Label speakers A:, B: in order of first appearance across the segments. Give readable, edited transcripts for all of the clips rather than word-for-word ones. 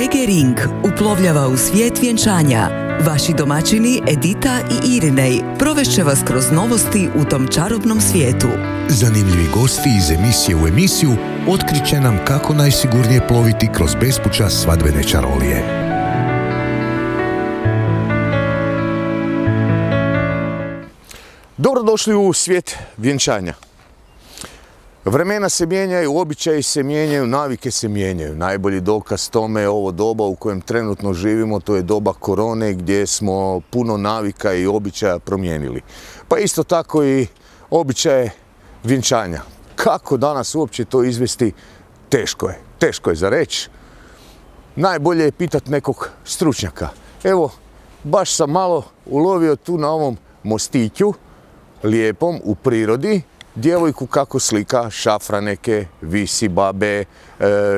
A: Reggae Ring uplovljava u svijet vjenčanja. Vaši domaćini Edita i Irinej provešće vas kroz novosti u tom čarobnom svijetu.
B: Zanimljivi gosti iz emisije u emisiju otkriće nam kako najsigurnije ploviti kroz bespuća svadbene čarolije.
C: Dobrodošli u svijet vjenčanja. Vremena se mijenjaju, običaji se mijenjaju, navike se mijenjaju. Najbolji dokaz tome je ovo doba u kojem trenutno živimo, to je doba korone gdje smo puno navika i običaja promijenili. Pa isto tako i običaje vjenčanja. Kako danas uopće to izvesti? Teško je za reći. Najbolje je pitati nekog stručnjaka. Evo, baš sam malo ulovio tu na ovom mostiću, lijepom, u prirodi, djevojku kako slika šafraneke, visi babe.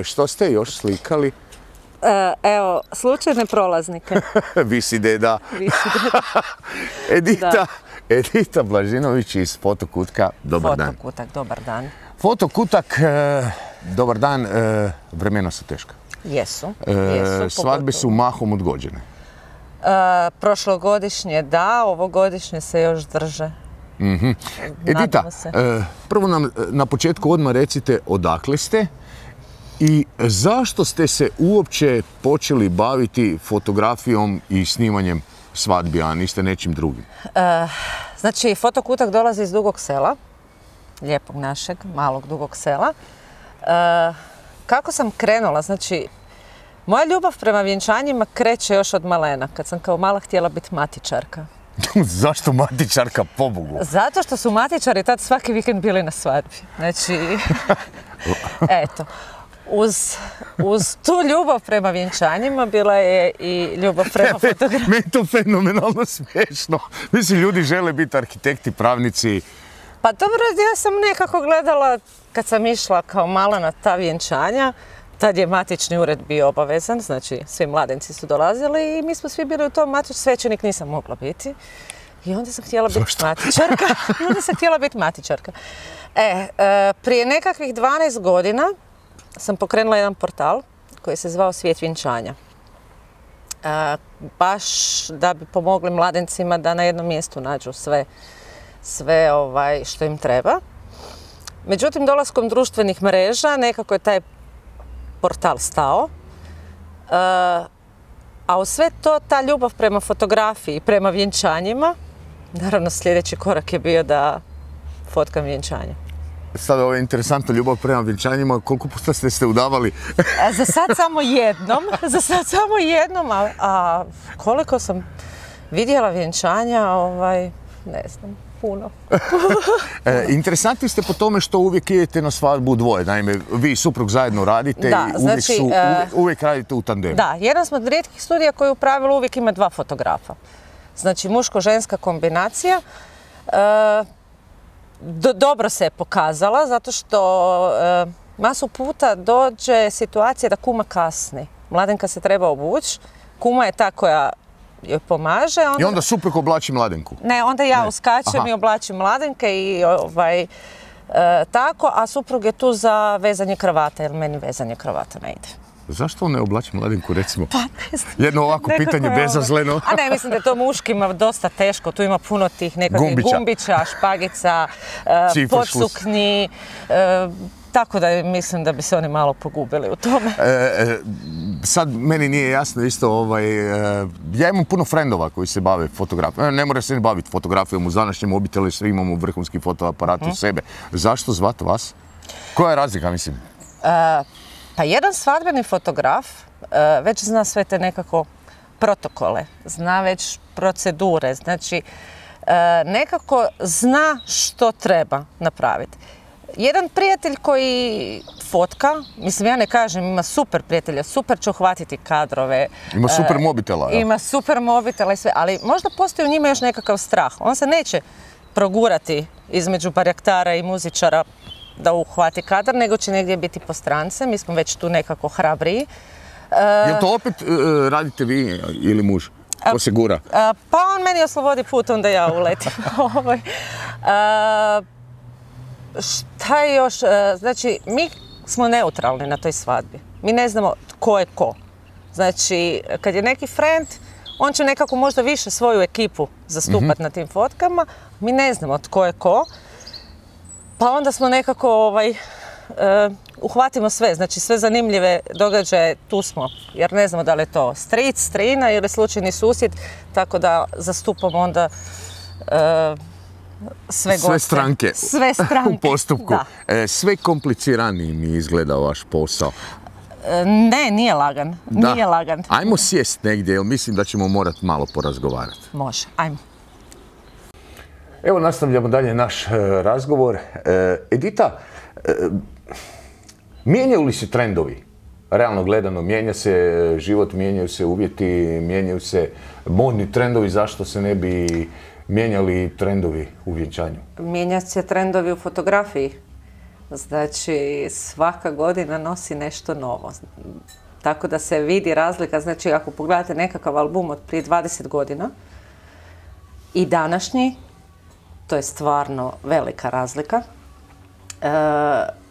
C: Što ste još slikali?
D: Evo, slučajne prolaznike.
C: Visi deda. Edita Blažinović iz Fotokutka. Dobar dan.
D: Fotokutak, dobar dan.
C: Fotokutak, dobar dan. Vremena su teška.
D: Jesu.
C: Svadbe su mahom odgođene.
D: Prošlogodišnje da, ovogodišnje se još drže.
C: Edita, prvo nam na početku odmah recite odakle ste i zašto ste se uopće počeli baviti fotografijom i snimanjem svadbi, a niste nečim drugim?
D: Znači, Fotokutak dolazi iz Dugog Sela, lijepog našeg, malog Dugog Sela. Kako sam krenula, znači, moja ljubav prema vjenčanjima kreće još od malena, kad sam kao mala htjela biti matičarka.
C: Zašto matičarka, pobogu?
D: Zato što su matičari tad svaki vikend bili na svadbi. Znači, eto, uz tu ljubav prema vjenčanjima bila je i ljubav prema fotografiji.
C: Meni je to fenomenalno smiješno. Mislim, ljudi žele biti arhitekti, pravnici.
D: Pa dobro, ja sam nekako gledala, kad sam išla kao mala na ta vjenčanja, tad je matični ured bio obavezan, znači svi mladenci su dolazili i mi smo svi bili u tom matičnom, svećenik nisam mogla biti. I onda sam htjela biti matičarka. Prije nekakvih 12 godina sam pokrenula jedan portal koji se zvao Svijet vjenčanja. Baš da bi pomogli mladencima da na jednom mjestu nađu sve što im treba. Međutim, dolaskom društvenih mreža nekako je taj portal stao, a u sve to ta ljubav prema fotografiji, prema vjenčanjima, naravno sljedeći korak je bio da fotkam vjenčanja.
C: Sada ovo je interesantno, ljubav prema vjenčanjima, koliko puta ste se udavali?
D: Za sad samo jednom, a koliko sam vidjela vjenčanja, ne znam, puno.
C: Interesantni ste po tome što uvijek idete na svadbu dvoje. Naime, vi i suprug zajedno radite i uvijek radite u tandemu. Da,
D: jedan smo od rijetkih studija koji u pravilu uvijek ima dva fotografa. Znači, muško-ženska kombinacija. Dobro se je pokazala, zato što masu puta dođe situacija da kuma kasni. Mladenka se treba obući, kuma je ta koja joj pomaže.
C: I onda suprug oblači mladenku?
D: Ne, onda ja uskačem i oblačim mladenke i tako, a suprug je tu za vezanje kravata, jer meni vezanje kravata ne ide.
C: Zašto on ne oblači mladenku, recimo?
D: Pa ne znam.
C: Jedno ovako pitanje bezazleno.
D: A ne, mislim da je to muškima dosta teško. Tu ima puno tih nekakvih gumbića, špagica, podsuknji. Tako da mislim da bi se oni malo pogubili u tome.
C: Sad meni nije jasno isto, ja imam puno frendova koji se bave fotografijom. Ne mora se ne baviti fotografijom, u današnjem obitelji svi imamo vrhunski fotoaparat u sebe. Zašto zvati vas? Koja je razlika, mislim?
D: Pa jedan svadbeni fotograf već zna sve te nekako protokole, zna već procedure, znači nekako zna što treba napraviti. Jedan prijatelj koji fotka, mislim ja ne kažem, ima super prijatelja, super će uhvatiti kadrove.
C: Ima super mobitela.
D: Ima super mobitela i sve, ali možda postoji u njima još nekakav strah. On se neće progurati između barjaktara i muzičara da uhvati kadar, nego će negdje biti po strance. Mi smo već tu nekako hrabriji.
C: Jel to opet radite vi ili muž? Ko se gura?
D: Pa on meni oslobodi put, onda ja uletim. Šta je još? Znači, mi smo neutralni na toj svadbi. Mi ne znamo tko je ko. Znači, kad je neki friend, on će nekako možda više svoju ekipu zastupati na tim fotkama, mi ne znamo tko je ko, pa onda smo nekako uhvatimo sve, znači sve zanimljive događaje, tu smo, jer ne znamo da li je to stric, strina ili slučajni susjed, tako da zastupamo onda sve goste.
C: Sve stranke.
D: Sve stranke.
C: U postupku. Sve kompliciraniji mi izgleda vaš posao.
D: Ne, nije lagan.
C: Da.
D: Nije lagan.
C: Ajmo sjest negdje, jer mislim da ćemo morati malo porazgovarati.
D: Može, ajmo.
C: Evo nastavljamo dalje naš razgovor. Edita, mijenjaju li se trendovi? Realno gledano, mijenja se život, mijenjaju se uvjeti, mijenjaju se modni trendovi, zašto se ne bi mijenjali trendovi u vjenčanju?
D: Mijenja se trendovi u fotografiji. Znači, svaka godina nosi nešto novo. Tako da se vidi razlika. Znači, ako pogledate nekakav album od prije 20 godina i današnji, to je stvarno velika razlika.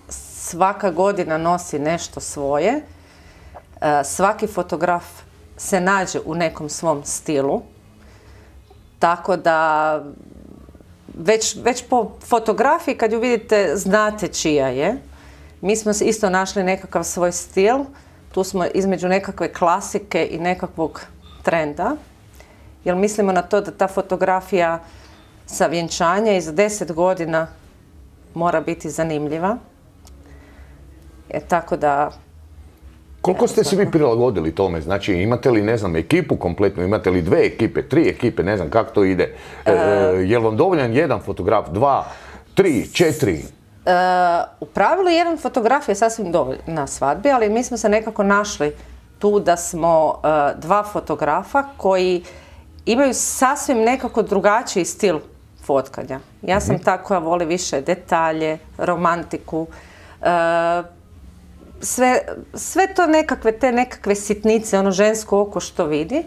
D: Svaka godina nosi nešto svoje. Svaki fotograf se nađe u nekom svom stilu. Tako da već po fotografiji kad ju vidite znate čija je. Mi smo isto našli nekakav svoj stil. Tu smo između nekakve klasike i nekakvog trenda. Jer mislimo na to da ta fotografija sa vjenčanja i za 10 godina mora biti zanimljiva. Tako da...
C: Koliko ste se vi prilagodili tome? Znači, imate li, ne znam, ekipu kompletnu, imate li 2 ekipe, 3 ekipe, ne znam kako to ide? Je li vam dovoljan jedan fotograf, 2, 3, 4?
D: U pravilu jedan fotograf je sasvim dovoljan na svadbi, ali mi smo se nekako našli tu da smo 2 fotografa koji imaju sasvim nekako drugačiji stil fotkanja. Ja sam ta koja voli više detalje, romantiku, sve to nekakve sitnice, ono žensko oko što vidi,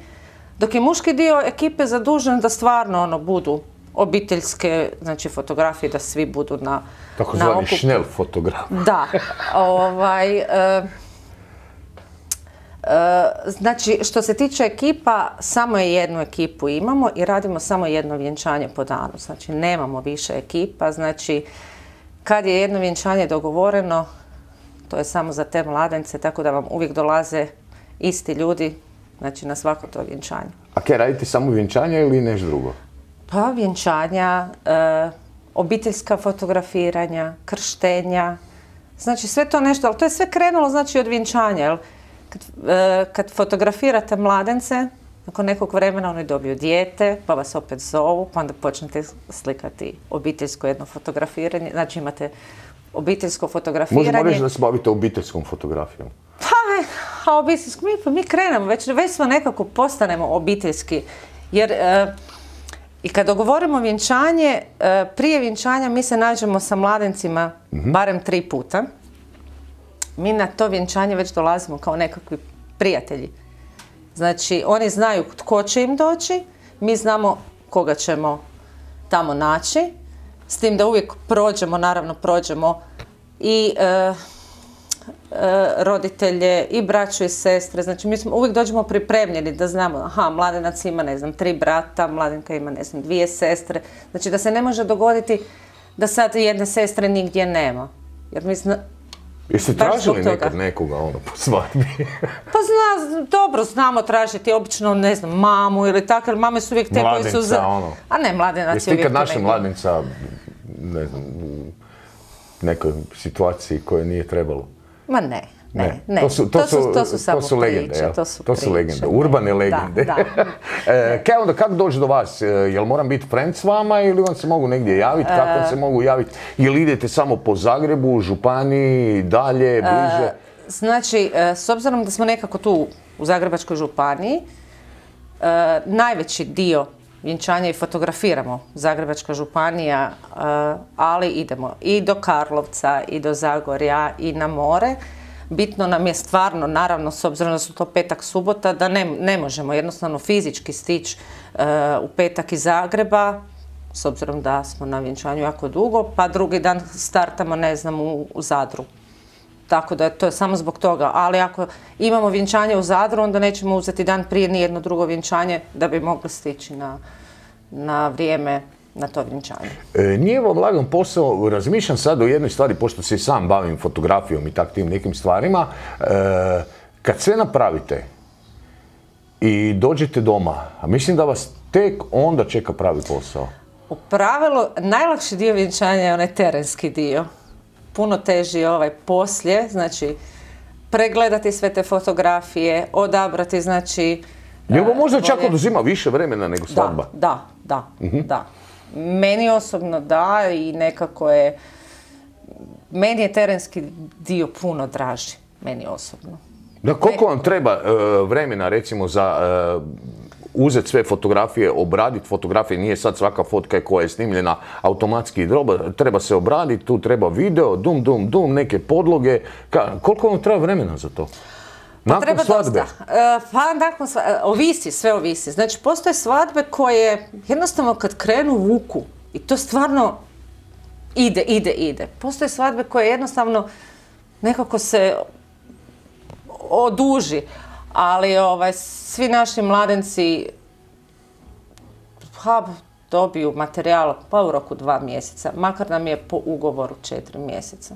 D: dok je muški dio ekipe zadužen da stvarno budu obiteljske, znači fotografije, da svi budu na
C: takozvani šnel fotograf.
D: Da. Znači, što se tiče ekipa, samo jednu ekipu imamo i radimo samo jedno vjenčanje po danu. Znači, nemamo više ekipa. Znači, kad je jedno vjenčanje dogovoreno, to je samo za te mladence, tako da vam uvijek dolaze isti ljudi, znači na svako to vjenčanje.
C: A kaj, radite samo vjenčanja ili nešto drugo?
D: Pa vjenčanja, obiteljska fotografiranja, krštenja, znači sve to nešto, ali to je sve krenulo znači od vjenčanja, jel? Kad fotografirate mladence, nakon nekog vremena oni dobiju dijete, pa vas opet zovu, pa onda počnete slikati obiteljsko jedno fotografiranje, znači imate obiteljsko fotografiranje.
C: Možemo reći da se bavite obiteljskom fotografijom?
D: Pa, mi krenemo, već smo nekako postanemo obiteljski, jer i kad dogovorimo vjenčanje, prije vjenčanja mi se nađemo sa mladencima barem 3 puta. Mi na to vjenčanje već dolazimo kao nekakvi prijatelji. Znači, oni znaju tko će im doći, mi znamo koga ćemo tamo naći, s tim da uvijek prođemo i roditelje, i braću i sestre. Znači, mi uvijek dođemo pripremljeni da znamo, aha, mladenac ima, 3 brata, mladenka ima, 2 sestre. Znači, da se ne može dogoditi da sad jedne sestre nigdje nema. Jer mi
C: jeste tražili nekad nekoga po svadbi?
D: Pa dobro, znamo tražiti obično, mamu ili tako, jer mame su uvijek te koji su... A ne, mladenac je uvijek...
C: Jeste ikad našli mladenca, u nekoj situaciji koje nije trebalo?
D: Ma ne. To su samo priče.
C: To su legende, urbane legende. Kaj onda, kako doći do vas? Jel moram biti friend s vama ili vam se mogu negdje javiti? Kako vam se mogu javiti? Jel idete samo po Zagrebu, županiji, dalje, bliže?
D: Znači, s obzirom da smo nekako tu u Zagrebačkoj županiji, najveći dio vjenčanja i fotografiramo Zagrebačka županija, ali idemo i do Karlovca, i do Zagorja, i na more. Bitno nam je stvarno, naravno, s obzirom da su to petak, subota, da ne možemo jednostavno fizički stići u petak iz Zagreba, s obzirom da smo na vjenčanju jako dugo, pa drugi dan startamo, u Zadru. Tako da to je samo zbog toga. Ali ako imamo vjenčanje u Zadru, onda nećemo uzeti dan prije ni jedno drugo vjenčanje da bi mogli stići na vrijeme na to vjenčanje.
C: Nije vam lagan posao, razmišljam sad o jednoj stvari, pošto se i sam bavim fotografijom i tim nekim stvarima. Kad sve napravite i dođete doma, a mislim da vas tek onda čeka pravi posao.
D: U pravilu, najlakši dio vjenčanja je onaj terenski dio. Puno teži je ovaj poslije, znači pregledati sve te fotografije, odabrati, znači...
C: Jel vam možda čak oduzima više vremena nego svadba?
D: Da. Meni osobno da i nekako je... Meni je terenski dio puno draži, meni osobno.
C: Da, koliko vam treba vremena, recimo, za uzeti sve fotografije, obraditi fotografije, nije sad svaka fotka koja je snimljena automatski, treba se obraditi, tu treba video, dum, neke podloge. Koliko vam treba vremena za to? Nakon svadbe?
D: Pa nakon svadbe, sve ovisi. Znači, postoje svadbe koje jednostavno kad krenu vuku i to stvarno ide. Postoje svadbe koje jednostavno nekako se oduži, ali svi naši mladenci dobiju materijal pa u roku 2 mjeseca, makar nam je po ugovoru 4 mjeseca.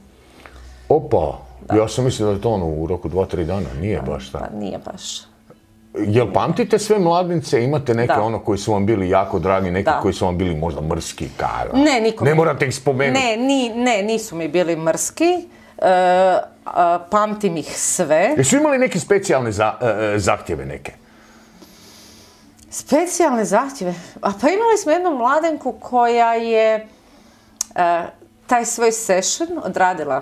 C: Opa, ja sam mislio da je to u roku 2-3 dana, nije baš tako.
D: Pa nije baš.
C: Jel pamtite sve mladince, imate neke koji su vam bili jako dragi, neki koji su vam bili možda mrski?
D: Ne, nikom.
C: Ne morate ih spomenuti.
D: Ne, nisu mi bili mrski. Pamtim ih sve.
C: Jesu imali neke specijalne zahtjeve neke?
D: Specijalne zahtjeve? Pa imali smo jednu mladenku koja je taj svoj session odradila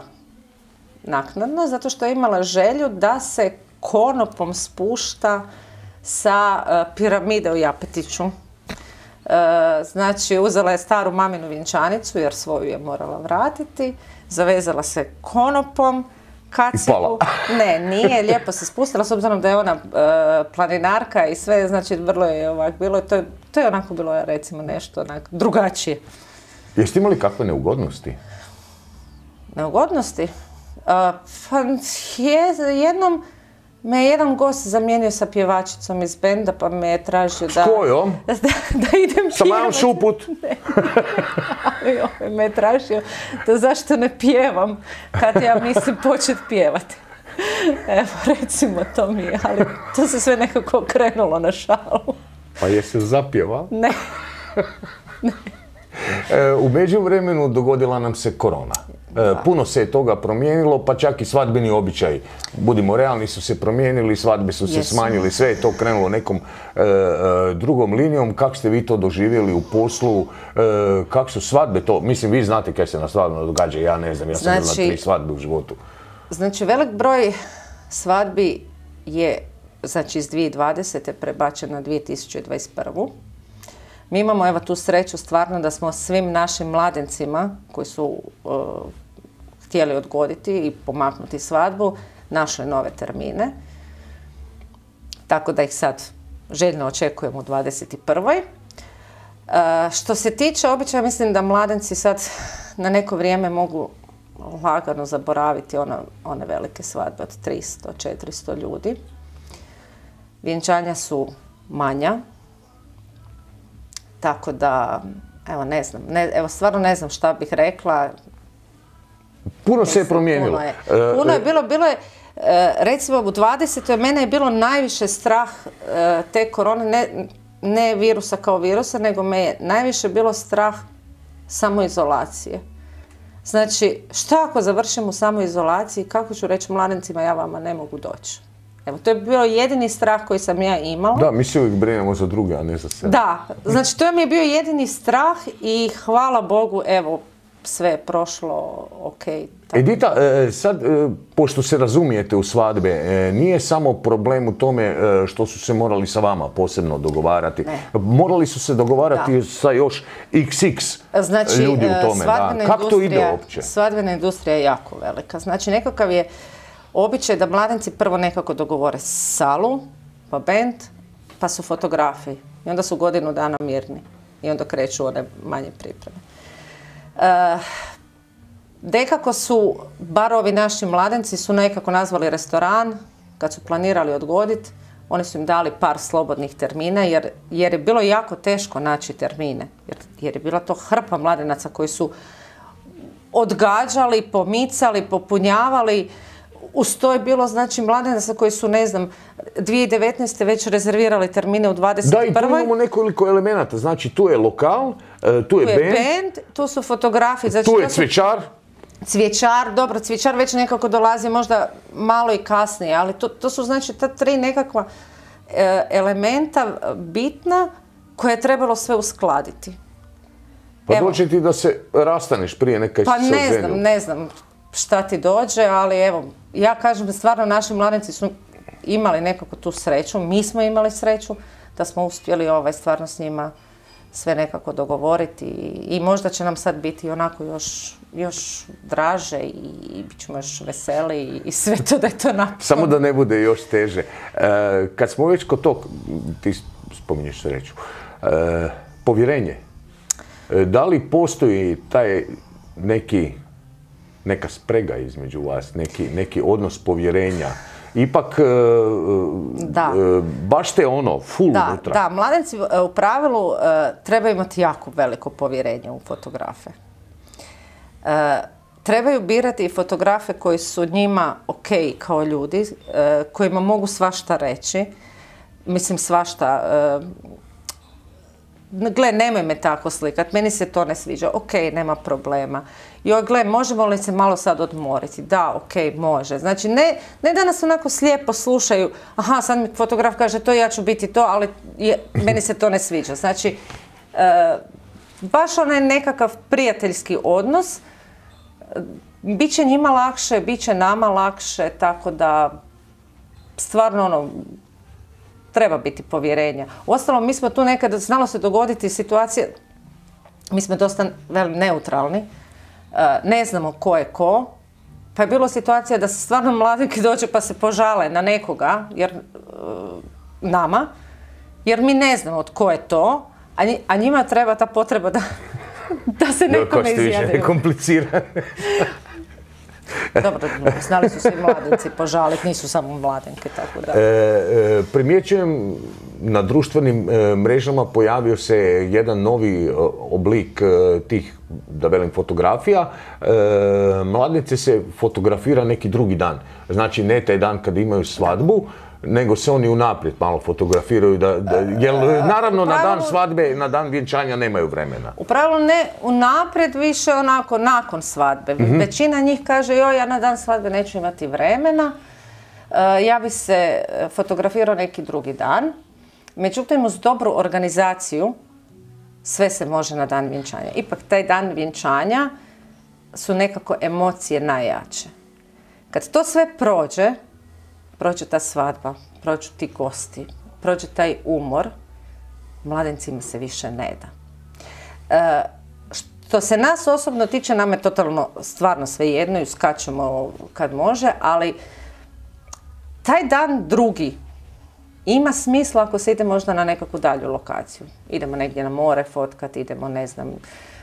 D: naknadno, zato što je imala želju da se konopom spušta sa piramide u Japetiću. Znači, uzela je staru maminu vjenčanicu, jer svoju je morala vratiti, zavezala se konopom, kacigu. Ne, nije, lijepo se spustila, s obzirom da je ona planinarka i sve, znači vrlo je ovak bilo, to je onako bilo, recimo, nešto drugačije.
C: Jeste imali kakve neugodnosti?
D: Neugodnosti? Pa jednom me je jedan gost zamijenio sa pjevačicom iz benda, pa me je tražio da...
C: S kojom?
D: Da idem pjevati.
C: Sa Majom Šuput?
D: Ne, ali me je tražio da zašto ne pjevam kad ja mislim početi pjevati. Evo, recimo, to mi je, ali to se sve nekako okrenulo na šalu.
C: Pa jesi zapjeva?
D: Ne.
C: U međuvremenu dogodila nam se korona. Puno se je toga promijenilo, pa čak i svadbeni običaji. Budimo realni, su se promijenili, svadbe su se smanjili, sve je to krenulo nekom drugom linijom. Kako ste vi to doživjeli u poslu? Kako su svadbe to? Mislim, vi znate kaj se na svadbama događa, ja ne znam, ja sam bila 3 svadbe u životu.
D: Znači, velik broj svadbi je, znači, iz 2020. prebačen na 2021. Mi imamo, evo, tu sreću stvarno da smo svim našim mladencima koji su htjeli odgoditi i pomaknuti svadbu, našli nove termine. Tako da ih sad željno očekujemo u 21. Što se tiče običaja, mislim da mladenci sad na neko vrijeme mogu lagano zaboraviti one velike svadbe od 300-400 ljudi. Vjenčanja su manja. Tako da, evo, ne znam, stvarno ne znam šta bih rekla.
C: Puno se je promijenilo.
D: Puno je bilo je, recimo u 20. mene je bilo najviše strah te korone, ne virusa kao virusa, nego me je najviše bilo strah samoizolacije. Znači, šta ako završim u samoizolaciji, kako ću reći mladencima, ja vama ne mogu doći? Evo, to je bio jedini strah koji sam ja imala.
C: Da, mi se uvijek brinemo za druge, a ne za sebe.
D: Da, znači to mi je bio jedini strah i hvala Bogu, evo, sve je prošlo okej.
C: Edita, sad, pošto se razumijete u svadbe, nije samo problem u tome što su se morali sa vama posebno dogovarati. Morali su se dogovarati sa još XX ljudi u tome. Kako to ide uopće?
D: Svadbena industrija je jako velika. Znači, nekakav je običaj da mladenci prvo nekako dogovore salu, pa bend, pa su fotografi. I onda su godinu dana mirni. I onda kreću one manje pripreme. Nekako su, bar ovi naši mladenci su nekako nazvali restoran, kad su planirali odgoditi, oni su im dali par slobodnih termina, jer je bilo jako teško naći termine. Jer je bila to hrpa mladenaca koji su odgađali, pomicali, popunjavali. Uz to je bilo, znači, mladenaca koji su, ne znam, 2019. već rezervirali termine u 21.
C: Da, i tu imamo nekoliko elemenata. Znači, tu je lokal, tu je band,
D: tu su fotografije. Znači,
C: tu je cvjećar.
D: Cvjećar, dobro, cvjećar već nekako dolazi možda malo i kasnije, ali to su, znači, ta tri nekakva elementa bitna koje je trebalo sve uskladiti.
C: Pa dođe ti da se rastaneš prije neka
D: pa ne znam šta ti dođe, ali evo, ja kažem da stvarno naši mladenci su imali nekako tu sreću, mi smo imali sreću da smo uspjeli stvarno s njima sve nekako dogovoriti i možda će nam sad biti onako još draže i bit ćemo još veseli i sve to da je to napravljeno.
C: Samo da ne bude još teže. Kad smo već kod tog, ti spominješ sreću, povjerenje. Da li postoji taj neka sprega između vas, neki odnos povjerenja? Ipak, baš te full unutra.
D: Da, mladenci u pravilu trebaju imati jako veliko povjerenje u fotografe. Trebaju birati i fotografe koji su njima ok kao ljudi, kojima mogu svašta reći. Mislim, svašta. Gle, nemoj me tako slikat, meni se to ne sviđa, ok, nema problema. Joj, gle, možemo li se malo sad odmoriti? Da, ok, može. Znači, ne da nas onako slijepo slušaju, aha, sad mi fotograf kaže to, ja ću biti to, ali meni se to ne sviđa. Znači, baš onaj nekakav prijateljski odnos, bit će njima lakše, bit će nama lakše, tako da stvarno treba biti povjerenja. Uostalom, mi smo tu nekad, znalo se dogoditi situacije, mi smo dosta neutralni, ne znamo ko je ko, pa je bilo situacija da se stvarno mladenki dođe pa se požale na nekoga, nama, jer mi ne znamo od ko je to, a njima treba ta potreba da se nekome izjavljaju.
C: Ko što više komplicirane.
D: Dobro, znali su se i mladenci požaliti, nisu samo mladenke, tako da.
C: Primjećujem, na društvenim mrežama pojavio se jedan novi oblik tih, da velim, fotografija. Mladenci se fotografira neki drugi dan. Znači, ne taj dan kad imaju svadbu, nego se oni unaprijed malo fotografiraju, jer naravno na dan svadbe, na dan vjenčanja nemaju vremena.
D: U pravilu ne unaprijed, više onako nakon svadbe. Većina njih kaže, joj, ja na dan svadbe neću imati vremena, ja bi se fotografirao neki drugi dan. Međutim, uz dobru organizaciju sve se može na dan vjenčanja. Ipak taj dan vjenčanja su nekako emocije najjače. Kad to sve prođe ta svadba, prođu ti gosti, prođe taj umor, mladencima se više ne da. Što se nas osobno tiče, nam je totalno stvarno svejedno i uskačemo kad može, ali taj dan drugi ima smisla ako se ide možda na nekakvu dalju lokaciju. Idemo negdje na more fotkati, idemo, ne znam,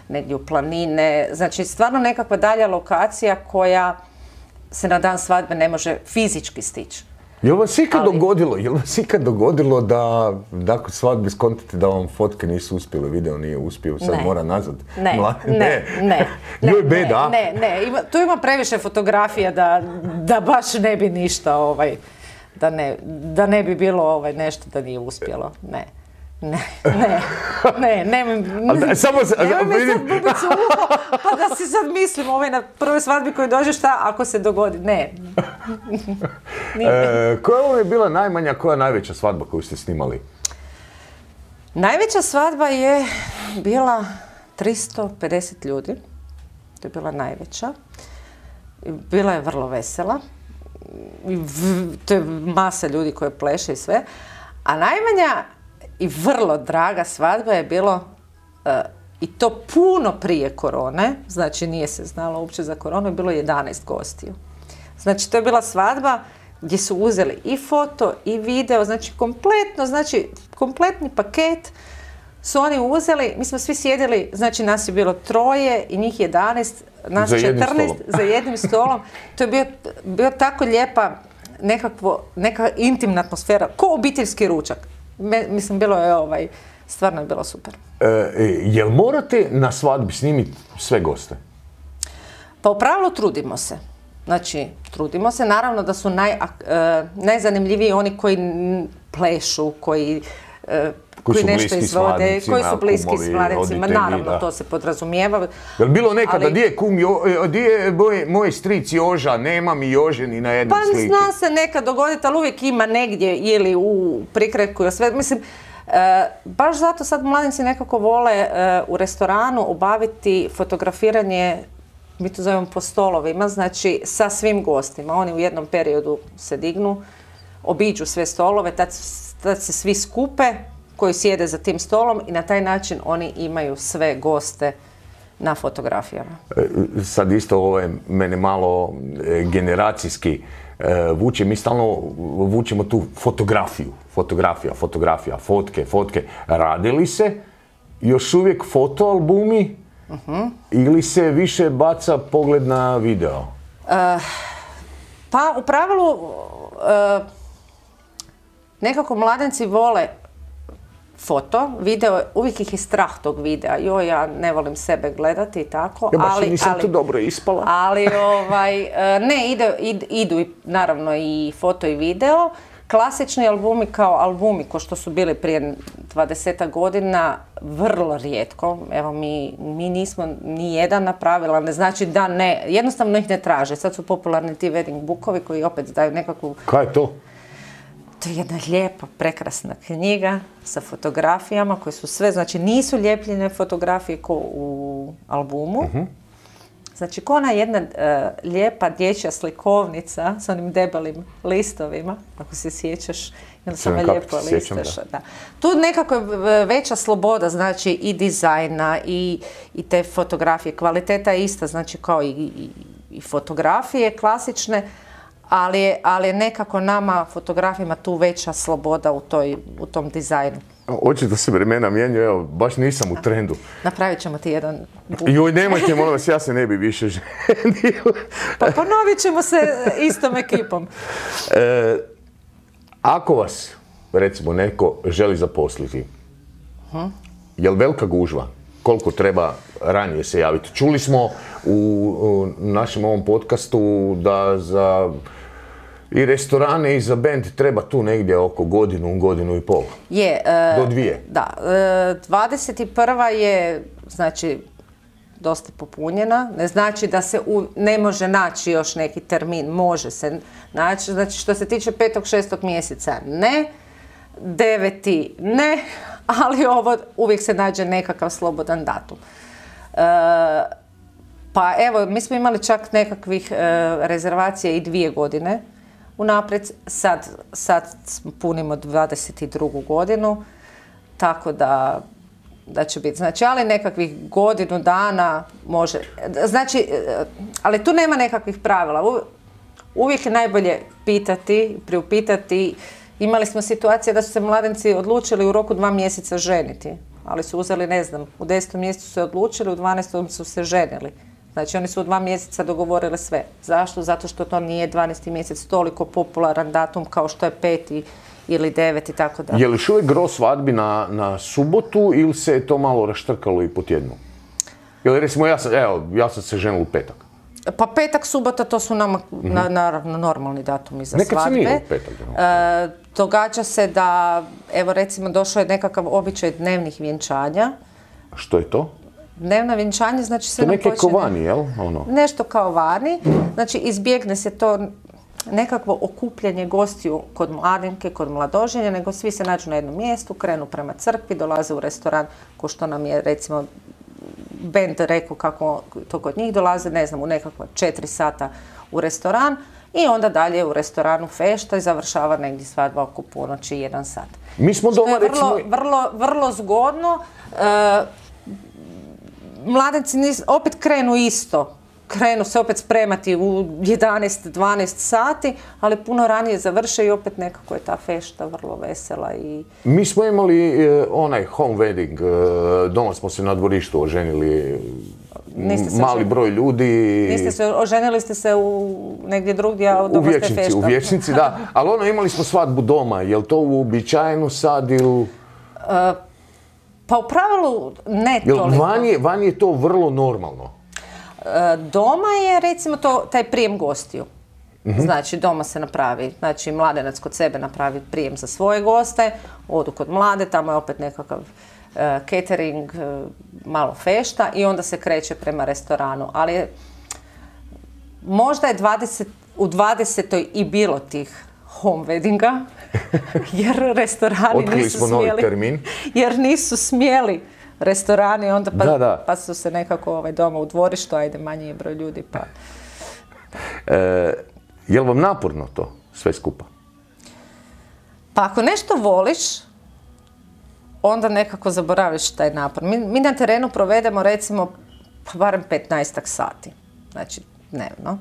D: negdje u planine. Znači, stvarno nekakva dalja lokacija koja se na dan svadbe ne može fizički stići.
C: Jel vas ikad dogodilo da nakon svadbe skontite da vam fotke nisu uspjele, video nije uspio, sad mora nazad?
D: Ne.
C: Joj, beda.
D: Ne, tu ima previše fotografija da baš ne bi ništa, da ne bi bilo nešto da nije uspjelo. Nemoj me sad bubicu uho, pa da si sad mislim na prvoj svadbi koju dođe, šta ako se dogodi? Ne.
C: Koja je bila najmanja, koja najveća svadba koju ste snimali?
D: Najveća svadba je bila 350 ljudi. To je bila najveća. Bila je vrlo vesela. To je masa ljudi koje pleše i sve. A najmanja i vrlo draga svadba je bilo, i to puno prije korone, znači nije se znalo uopće za koronu, je bilo 11 gostiju. Znači to je bila svadba gdje su uzeli i foto i video, znači kompletni paket su oni uzeli, mi smo svi sjedili, znači nas je bilo 3 i njih 11, nas 14 za jednim stolom. To je bio tako lijepa neka intimna atmosfera, ko obiteljski ručak. Mislim, bilo je stvarno je bilo super.
C: Jel morate na svadbi snimiti sve goste?
D: Pa u pravilu trudimo se. Znači, trudimo se. Naravno da su najzanimljiviji oni koji plešu, koji nešto izvode, koji su bliski s mladencima. Naravno, to se podrazumijeva.
C: Jel bilo nekada, di je kum, di je moj stric Joža, nema mi Jože ni na jednoj sliki?
D: Pa zna se nekad dogoditi, ali uvijek ima negdje ili u prikretku ili sve. Mislim, baš zato sad mladenci nekako vole u restoranu obaviti fotografiranje, mi to zovemo po stolovima, znači sa svim gostima. Oni u jednom periodu se dignu, obiđu sve stolove, tad se svi skupe koji sjede za tim stolom i na taj način oni imaju sve goste na fotografijama.
C: Sad isto mene malo generacijski vuče, mi stalno vučemo tu fotografija, fotke. Rade li se još uvijek fotoalbumi ili se više baca pogled na video?
D: Pa u pravilu nekako mladenci vole foto, video, uvijek ih je strah tog videa. Joj, ja ne volim sebe gledati i tako.
C: Ja baš nisam tu dobro ispala.
D: Ali, ne, idu naravno i foto i video. Klasični albumi kao albumi, ko što su bili prije 20 godina, vrlo rijetko. Evo, mi nismo ni jedan napravila, ne znači da ne, jednostavno ih ne traže. Sad su popularni ti wedding bookovi koji opet daju nekakvu...
C: Kaj je to?
D: To je jedna lijepa, prekrasna knjiga sa fotografijama koje su sve, znači nisu lijepljene fotografije ko u albumu. Znači, ko ona jedna lijepa dječja slikovnica s onim debelim listovima, ako se sjećaš, onda samo lijepo listaš. Da. Tu nekako je veća sloboda, znači i dizajna i te fotografije. Kvaliteta je ista, znači kao i fotografije klasične, ali je nekako nama fotografima tu veća sloboda u tom dizajnu.
C: Očito se vremena mijenjaju, evo, baš nisam u trendu.
D: Napravit ćemo ti jedan buk.
C: Joj, nemojte, molim vas, ja se ne bi više ženio.
D: Pa ponovit ćemo se istom ekipom.
C: Ako vas, recimo, neko želi zaposliti, je li velika gužva? Koliko treba ranije se javiti? Čuli smo u našem ovom podcastu da za i restorane i za bend treba tu negdje oko godinu i pol.
D: Je.
C: Do 2.
D: Da. 21. je, znači, dosta popunjena. Ne znači da se ne može naći još neki termin. Može se naći. Znači, što se tiče 5. 6. mjeseca, ne. 9. ne. Ali ovo uvijek se nađe nekakav slobodan datum. Pa evo, mi smo imali čak nekakvih rezervacija i 2 godine unaprijed. Sad punimo 22. godinu, tako da će biti. Znači, ali nekakvih godinu dana može. Znači, ali tu nema nekakvih pravila. Uvijek je najbolje pitati, priupitati. Imali smo situacije da su se mladenci odlučili u roku 2 mjeseca ženiti, ali su uzeli, ne znam, u 10. mjesecu se odlučili, u 12. su se ženili. Znači, oni su u 2 mjeseca dogovorili sve. Zašto? Zato što to nije 12. mjesec toliko popularan datum kao što je 5. ili 9. i tako da.
C: Je li još uvijek gro svadbi na subotu ili se je to malo raštrkalo i po tjednu? Ili recimo, ja sam se ženil u petak.
D: Pa petak, subota, to su nama naravno normalni datumi za svadbe.
C: Nekad se nije u petak.
D: Događa se da, evo recimo, došao je nekakav običaj dnevnih vjenčanja.
C: Što je to?
D: Dnevna vjenčanje, znači sve
C: nam počne... To neke ko vani, jel?
D: Nešto kao vani. Znači, izbjegne se to nekakvo okupljanje gostiju kod mladenke, kod mladoženja, nego svi se nađu na jednom mjestu, krenu prema crkvi, dolaze u restoran, ko što nam je, recimo, bend rekao kako to kod njih dolaze, ne znam, u nekakva 4 sata u restoran i onda dalje u restoranu fešta i završava negdje svadba oko ponoći 1 sat.
C: Mi smo doma, recimo...
D: Vrlo zgodno. Mladenci opet krenu isto krenu se opet spremati u 11-12 sati, ali puno ranije završe i opet nekako je ta fešta vrlo vesela.
C: Mi smo imali onaj home wedding, doma smo se na dvorištu oženili, mali broj ljudi.
D: Oženili ste se negdje drugdje, a doma ste feštali.
C: U Vječnici, da. Ali imali smo svadbu doma. Je li to uobičajeno sad ili...
D: Pa u pravilu ne toliko.
C: Van je to vrlo normalno.
D: Doma je recimo taj prijem gostiju. Znači doma se napravi, znači mladenac kod sebe napravi prijem za svoje goste, odu kod mlade, tamo je opet nekakav catering, malo fešta i onda se kreće prema restoranu. Ali možda je u 20. i bilo tih home weddinga, jer restorani nisu smjeli. Jer nisu smjeli restorani, onda pa su se nekako doma u dvorištu, ajde manji je broj ljudi. Pa.
C: Je li vam naporno to sve skupa?
D: Pa ako nešto voliš, onda nekako zaboraviš taj napor. Mi na terenu provedemo recimo barem 15 sati, znači dnevno,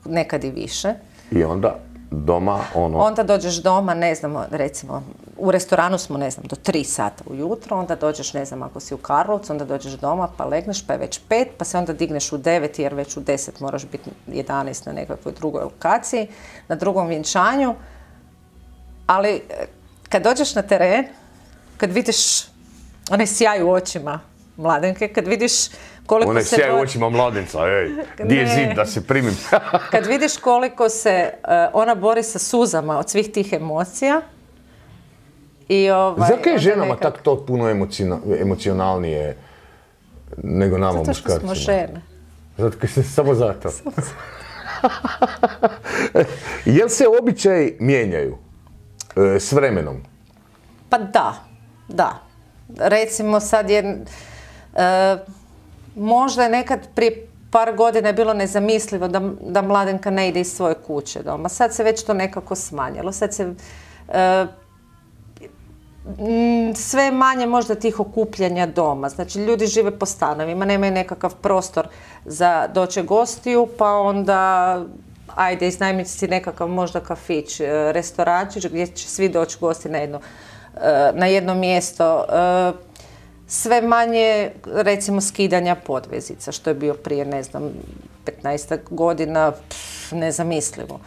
D: nekad i više.
C: I onda doma
D: Onda dođeš doma, ne znam, recimo, u restoranu smo, ne znam, do 3 sata ujutro, onda dođeš, ne znam, ako si u Karlovcu, onda dođeš doma, pa legneš, pa je već 5, pa se onda digneš u 9, jer već u 10 moraš biti 11 na nekakvoj drugoj lokaciji, na drugom vjenčanju. Ali kad dođeš na teren, kad vidiš onaj sjaj u očima mladenke, kad vidiš koliko
C: se... Sjaj u očima mladenca, di je zid da se primim.
D: Kad vidiš koliko se ona bori sa suzama od svih tih emocija.
C: Zato je ženama tako to puno emocionalnije nego nama muškarcima?
D: Zato što smo žene.
C: Samo zato. Jel se običaji mijenjaju s vremenom?
D: Pa da. Recimo sad je... Možda je nekad prije par godina je bilo nezamislivo da mladenka ne ide iz svoje kuće doma. Sad se već to nekako smanjilo. Sad se sve manje možda tih okupljanja doma. Znači ljudi žive po stanovima, nemaju nekakav prostor za doći gostiju, pa onda ajde iznajmiti si nekakav možda kafić, restorančić gdje će svi doći gosti na jedno mjesto. Sve manje, recimo, skidanja podvezica, što je bio prije, ne znam, 15 godina, nezamislivo.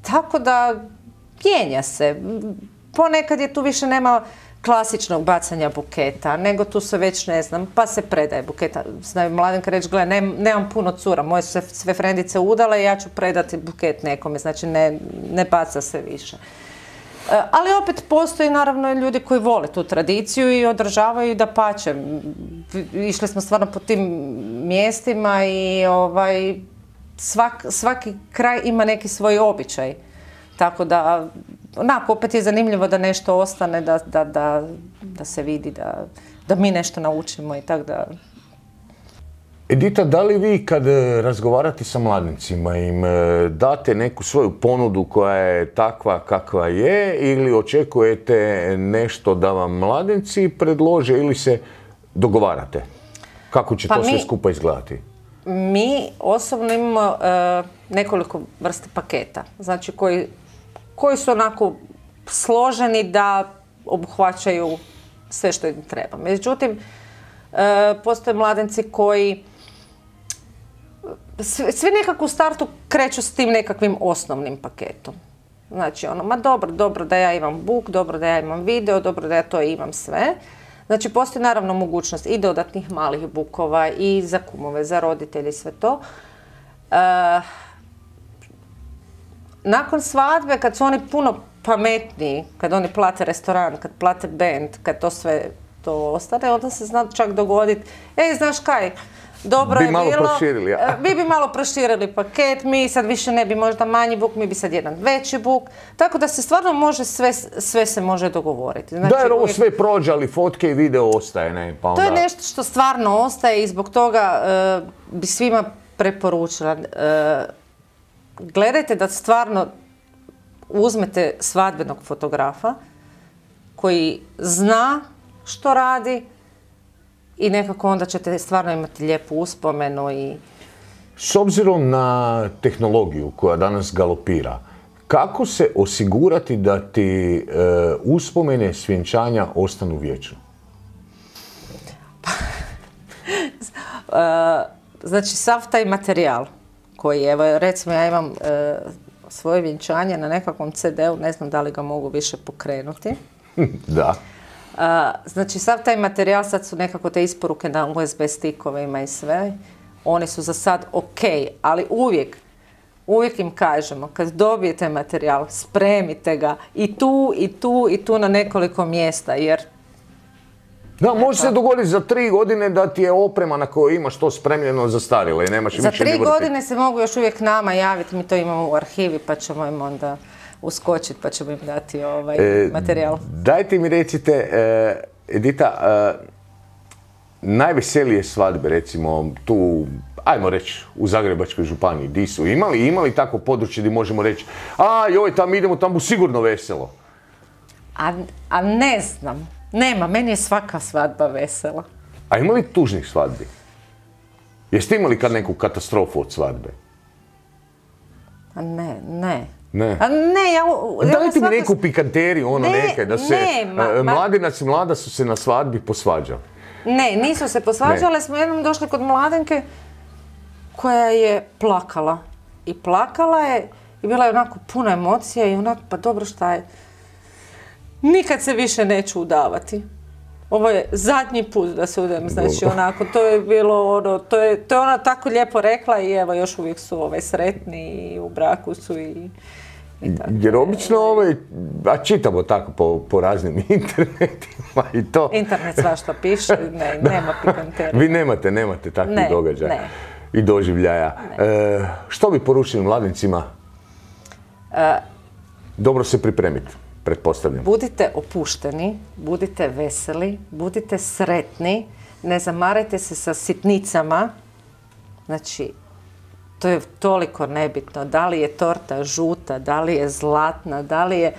D: Tako da, mijenja se. Ponekad je tu više nema klasičnog bacanja buketa, nego tu se već, ne znam, pa se predaje buketa. Znaju mladenka reći, gledaj, nemam puno cura, moje su se sve frendice udale i ja ću predati buket nekome, znači ne baca se više. Ali opet postoji naravno ljudi koji vole tu tradiciju i održavaju i dapače. Išli smo stvarno po tim mjestima i svaki kraj ima neki svoj običaj. Tako da, onako, opet je zanimljivo da nešto ostane, da se vidi, da mi nešto naučimo i tako da...
C: Edita, da li vi kad razgovarate sa mladencima im date neku svoju ponudu koja je takva kakva je ili očekujete nešto da vam mladenci predlože ili se dogovarate? Kako će to sve skupa izgledati?
D: Mi osobno imamo nekoliko vrste paketa, znači koji su onako složeni da obuhvaćaju sve što im treba. Međutim, postoje mladenci koji svi nekako u startu kreću s tim nekakvim osnovnim paketom. Znači, ma dobro da ja imam book, dobro da ja imam video, dobro da ja to imam sve. Znači, postoji naravno mogućnost i dodatnih malih bookova i za kumove, za roditelje i sve to. Nakon svadbe, kad su oni puno pametniji, kad oni plate restoran, kad plate band, kad to sve to ostane, onda se zna čak dogoditi, znaš kaj, dobro je bilo, mi bi malo proširili paket, mi sad više ne bi možda manji book, mi bi sad jedan veći book, tako da se stvarno može, sve se može dogovoriti.
C: Znači, da, jer ovo sve prođe, ali fotke i video ostaje, ne? Pa onda...
D: To je nešto što stvarno ostaje i zbog toga bi svima preporučila. Gledajte da stvarno uzmete svadbenog fotografa koji zna što radi i nekako onda ćete stvarno imati lijepu uspomenu i...
C: S obzirom na tehnologiju koja danas galopira, kako se osigurati da ti uspomene s vjenčanja ostanu vječno?
D: Znači, sav taj materijal koji, evo, recimo ja imam svoje vjenčanje na nekakvom CD-u, ne znam da li ga mogu više pokrenuti.
C: Da.
D: Znači, sav taj materijal, sad su nekako te isporuke na USB stikovima i sve, oni su za sad ok, ali uvijek im kažemo, kad dobijete materijal, spremite ga i tu na nekoliko mjesta, jer...
C: Da, može se dogoditi za 3 godine da ti je oprema na kojoj imaš to spremljeno zastarjelo i nemaš više ni vrti.
D: Za 3 godine se mogu još uvijek nama javiti, mi to imamo u arhivi pa ćemo im onda uskočiti pa ćemo im dati materijal.
C: Dajte mi recite, Edita, najveselije svadbe, recimo tu, ajmo reći, u Zagrebačkoj županiji, di su imali tako područje gdje možemo reći, joj, tam idemo, tam bu sigurno veselo?
D: A ne znam, nema, meni je svaka svadba vesela.
C: A ima li tužnih svadbi? Jeste imali kad neku katastrofu od svadbe?
D: Ne.
C: Ne.
D: Dajte
C: mi neku pikanteriju, neke, da se mladenac i mlada su se na svadbi posvađali.
D: Ne, nisu se posvađale, smo jednom došli kod mladenke koja je plakala. I plakala je i bila je onako puna emocija i onako, pa dobro, šta je? Nikad se više neću udavati. Ovo je zadnji put da se udam, znači onako, to je bilo to je ona tako lijepo rekla i evo još uvijek su sretni i u braku su i tako.
C: Jer obično čitamo tako po raznim internetima i to.
D: Internet svašta piše, nema pikanterija.
C: Vi nemate takvih događaja i doživljaja. Što bi poručili mladencima? Dobro se pripremiti, pretpostavljam.
D: Budite opušteni, budite veseli, budite sretni, ne zamarajte se sa sitnicama. Znači, to je toliko nebitno. Da li je torta žuta, da li je zlatna, da li je...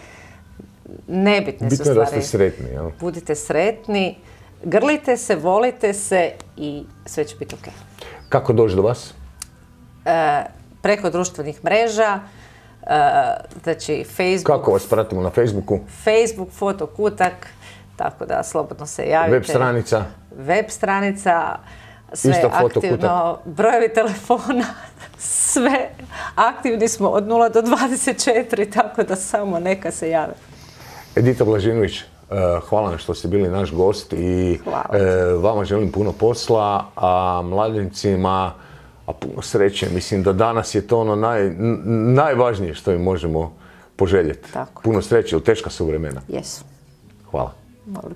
D: Nebitne su stvari.
C: Bitno da ste sretni, jel?
D: Budite sretni, grlite se, volite se i sve će biti ok.
C: Kako doći do vas?
D: Preko društvenih mreža, znači Facebook.
C: Kako vas pratimo na Facebooku?
D: Facebook, Fotokutak, tako da slobodno se javite.
C: Web stranica?
D: Web stranica, sve aktivno, brojevi telefona, sve aktivni smo od 0 do 24, tako da samo neka se jave.
C: Edita Blažinović, hvala vam što ste bili naš gost i vama želim puno posla, a mladencima puno sreće. Mislim da danas je to najvažnije što im možemo poželjeti. Puno sreće, jer teška su vremena.
D: Jesu.
C: Hvala.
D: Molim.